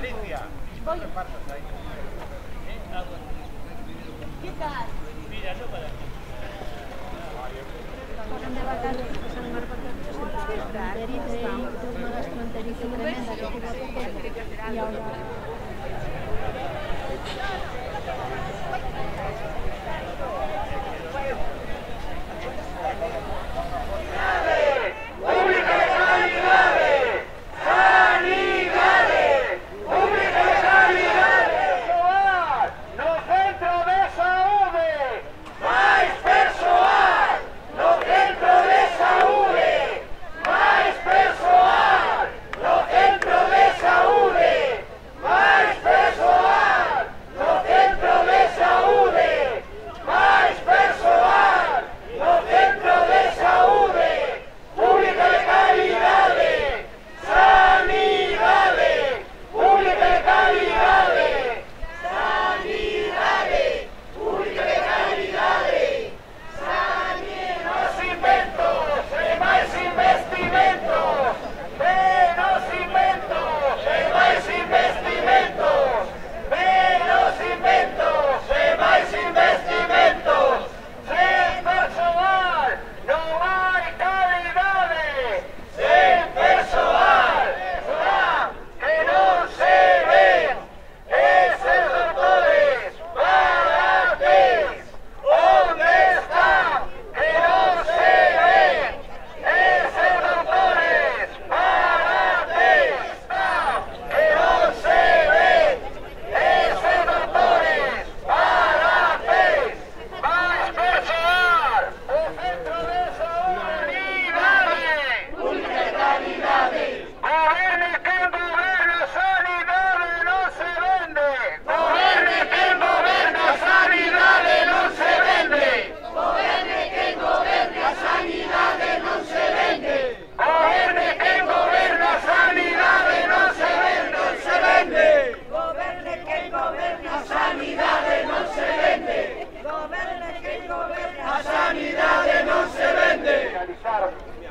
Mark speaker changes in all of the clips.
Speaker 1: Alicia,
Speaker 2: voy.
Speaker 1: repartas ahí.
Speaker 2: ¿Qué tal?
Speaker 1: Mira, no para aquí.
Speaker 2: Fueron de vacaciones a San Marcos gastroenteritis, una gastroenteritis tremenda que tuvo pequeña y ahora...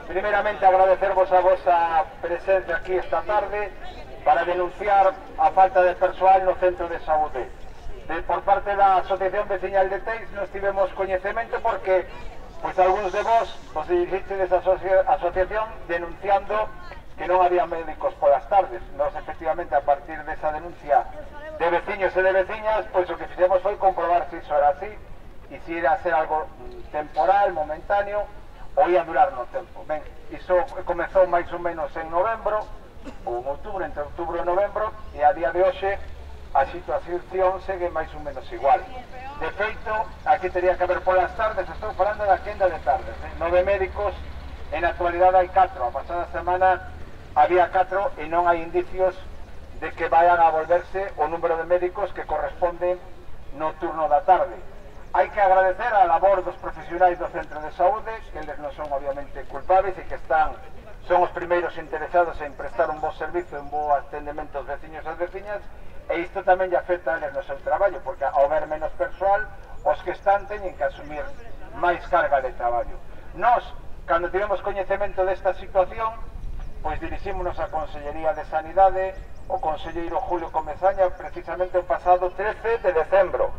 Speaker 3: Primeramente agradecervos a vosa presencia aquí esta tarde para denunciar a falta de persoal no centro de saúde. Por parte da Asociación Veciñal de Teis nos tivemos coñecemento porque pois algúns de vos os dirixistedes a asociación denunciando que non había médicos polas tardes. Nos efectivamente a partir desa denuncia de veciños e de veciñas, pois o que fixemos foi comprobar se iso era así e se era a ser algo temporal, momentáneo ou ia durar no tempo. Ben, iso comezou máis ou menos en novembro ou en outubro, entre outubro e novembro, e a día de hoxe a situación segue máis ou menos igual. De feito, aquí teria que haber polas tardes, estou falando da quenda de tardes, 9 médicos, en actualidade hai 4, a pasada semana había 4 e non hai indicios de que vayan a volverse o número de médicos que corresponden no turno da tarde. Hai que agradecer a labor dos profesionais do centro de saúde, que eles non son obviamente culpables e que son os primeiros interesados en prestar un bo servizo, un bo atendemento aos veciños e as veciñas, e isto tamén lle afecta a eles no seu traballo, porque ao ver menos persoal, os que están teñen que asumir máis carga de traballo. Nós, cando tivemos coñecemento desta situación, pois dirixímonos á Consellería de Sanidade, o conselleiro Julio Comesaña, precisamente o pasado 13 de decembro,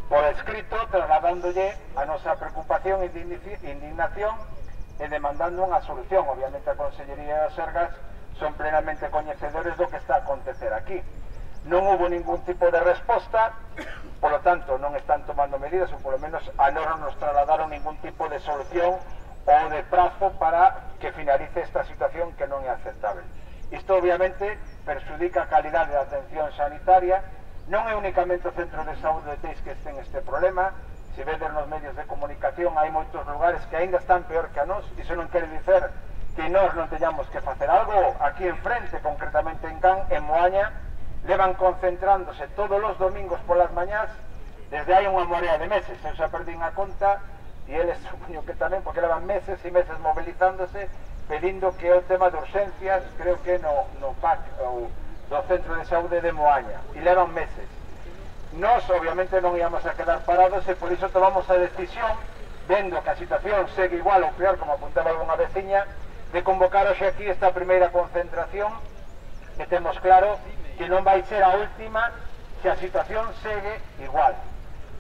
Speaker 3: por escrito, trasladándolle a nosa preocupación e indignación e demandando unha solución. Obviamente a Consellería e as Sergas son plenamente coñecedores do que está a acontecer aquí. Non hubo ningún tipo de resposta, polo tanto non están tomando medidas, ou polo menos a nós non nos trasladaron ningún tipo de solución ou de prazo para que finalice esta situación que non é aceptable. Isto obviamente perxudica a calidade da atención sanitaria. Non é únicamente o centro de saúde de Teis que ten este problema. Se vedes nos medios de comunicación hai moitos lugares que ainda están peor que a nós. Iso non quere dicer que nós non teñamos que facer algo. Aquí enfrente, concretamente en Can, en Moaña, levan concentrándose todos os domingos polas mañás desde hai unha morea de meses. Eu xa perdín a conta e eles supoño que tamén, porque levan meses e meses movilizándose pedindo que o tema de urgencias, creo que no PAC ou do centro de saúde de Moaña, e levan meses. Nós obviamente non íamos a quedar parados e por iso tomamos a decisión, vendo que a situación segue igual ou peor, como apuntaba algunha veciña, de convocar hoxe aquí esta primeira concentración, que temos claro que non vai ser a última se a situación segue igual.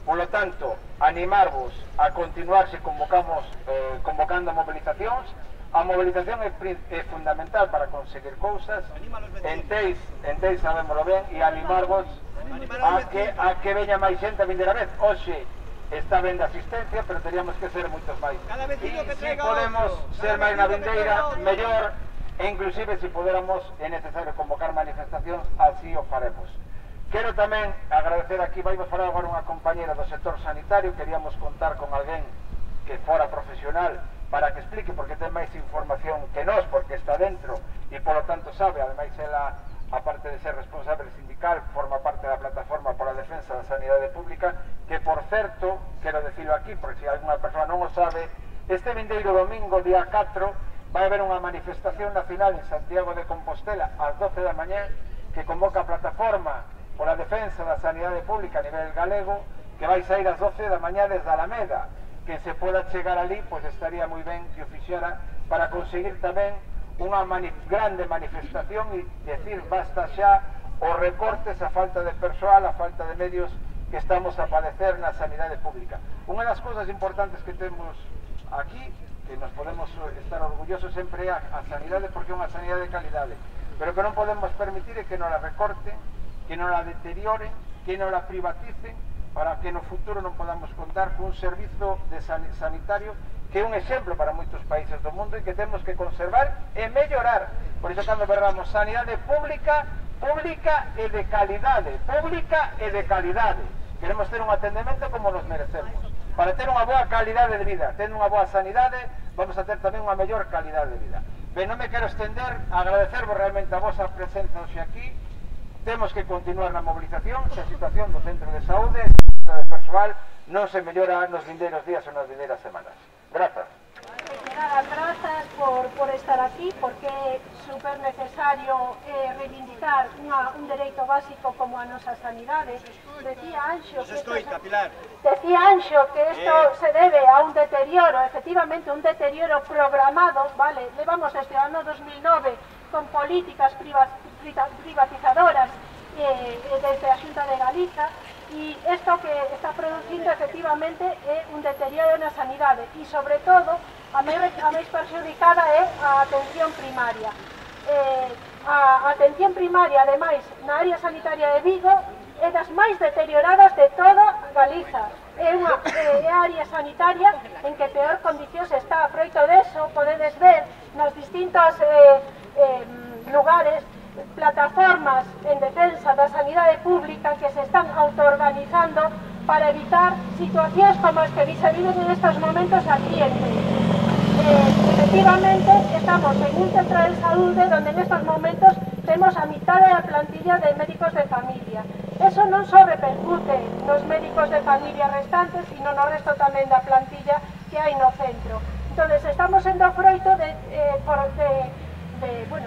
Speaker 3: Por lo tanto, animarvos a continuar se convocando mobilizacións. A mobilización é fundamental para conseguir cousas. En Teis sabémoslo ben, e animarvos a que veña máis xente a vindeira vez. Hoxe está ben de asistencia, pero teríamos que ser moitos máis. E se podemos ser máis na vindeira, mellor, e inclusive se poderamos, é necesario convocar manifestacións, así o faremos. Quero tamén agradecer aquí, vai falar agora unha compañera do sector sanitario, queríamos contar con alguén que fora profesional para que explique, porque ten máis información que nós, porque está dentro e polo tanto sabe, ademais ela, aparte de ser responsable sindical, forma parte da plataforma pola defensa da sanidade pública, que por certo, quero decirlo aquí, porque se alguna persoa non o sabe, este vindeiro domingo, día 4, vai haber unha manifestación nacional en Santiago de Compostela ás 12 da mañá, que convoca a plataforma pola defensa da sanidade pública a nivel galego, que vai sair ás 12 da mañá desde Alameda. Que se poda chegar ali, pois estaría moi ben que o fixera para conseguir tamén unha grande manifestación e decir basta xa os recortes, a falta de persoal, a falta de medios que estamos a padecer na sanidade pública. Unha das cousas importantes que temos aquí, que nos podemos estar orgullosos sempre é a sanidade, porque é unha sanidade de calidade, pero que non podemos permitir é que non la recorten, que non la deterioren, que non la privaticen, para que no futuro non podamos contar con un servizo sanitario que é un exemplo para moitos países do mundo e que temos que conservar e mellorar. Por iso cando berramos sanidade pública, pública e de calidade, pública e de calidade. Queremos ter un atendemento como nos merecemos. Para ter unha boa calidade de vida, tendo unha boa sanidade, vamos a ter tamén unha mellor calidade de vida. Ben, non me quero estender, agradecervos realmente a vosa presenza hoxe aquí. Temos que continuar na movilización se a situación do centro de saúde de persoal non se mellora nos vindeiros días ou nas vindeiras semanas. Grazas.
Speaker 2: Nada, grazas por estar aquí, porque é super necesario reivindicar un dereito básico como a nosa sanidade. Decía Anxo que isto se debe a un deterioro, efectivamente un deterioro programado, vale, levamos desde o ano 2009 con políticas privatizadoras desde a Xunta de Galiza, e isto que está producindo efectivamente é un deterioro na sanidade e sobre todo a máis perxudicada é a atención primaria. A atención primaria, ademais, na área sanitaria de Vigo é das máis deterioradas de toda Galiza. É a área sanitaria en que peor condicións está. A froito deso podedes ver nos distintos lugares plataformas en defensa da sanidade pública que se están autoorganizando para evitar situacións como as que se viven en estos momentos aquí en Teis. Efectivamente, estamos en un centro de saúde donde en estos momentos temos a mitad da plantilla de médicos de familia. Eso non só repercute nos médicos de familia restantes, sino no resto tamén da plantilla que hai no centro. Entón, estamos sendo froito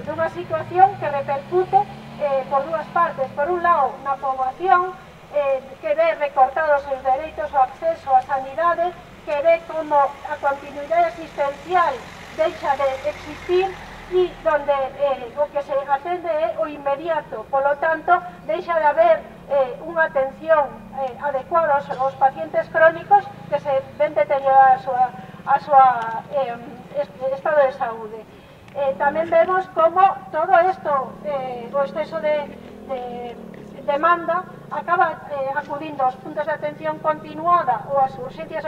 Speaker 2: dunha situación que repercute por dúas partes. Por un lado, na poboación que ve recortados os dereitos ao acceso á sanidade, que ve como a continuidade asistencial deixa de existir e donde o que se atende é o inmediato. Polo tanto, deixa de haber unha atención adecuada aos pacientes crónicos que se ven deteriorar a súa estado de saúde. Tamén vemos como todo isto, o exceso de demanda, acaba acudindo aos puntos de atención continuada ou ás urxencias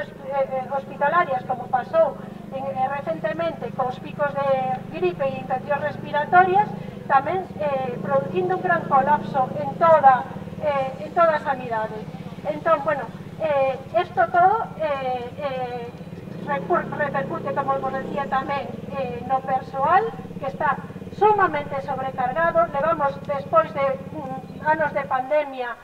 Speaker 2: hospitalarias, como pasou recentemente cos picos de gripe e infeccións respiratorias, tamén producindo un gran colapso en toda a sanidade. Entón, bueno, isto todo repercute, como vos decía tamén, no persoal, que está sumamente sobrecargado. Levamos, despois de anos de pandemia,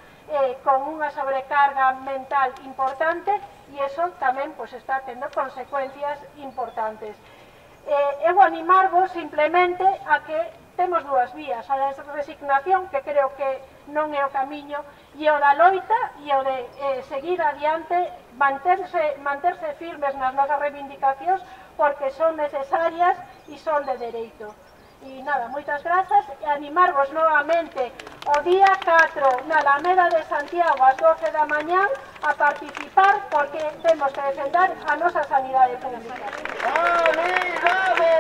Speaker 2: con unha sobrecarga mental importante, e iso tamén está tendo consecuencias importantes. Eu animarvos simplemente a que temos dúas vías, a da resignación, que creo que non é o camiño, e o da loita e o de seguir adiante, manterse firmes nas nosas reivindicacións, porque son necesarias e son de dereito. E nada, moitas grazas, e animarvos novamente o día 4 na Alameda de Santiago ás 12 da mañán a participar porque temos que defender a nosa sanidade pública.
Speaker 3: ¡Sanidade!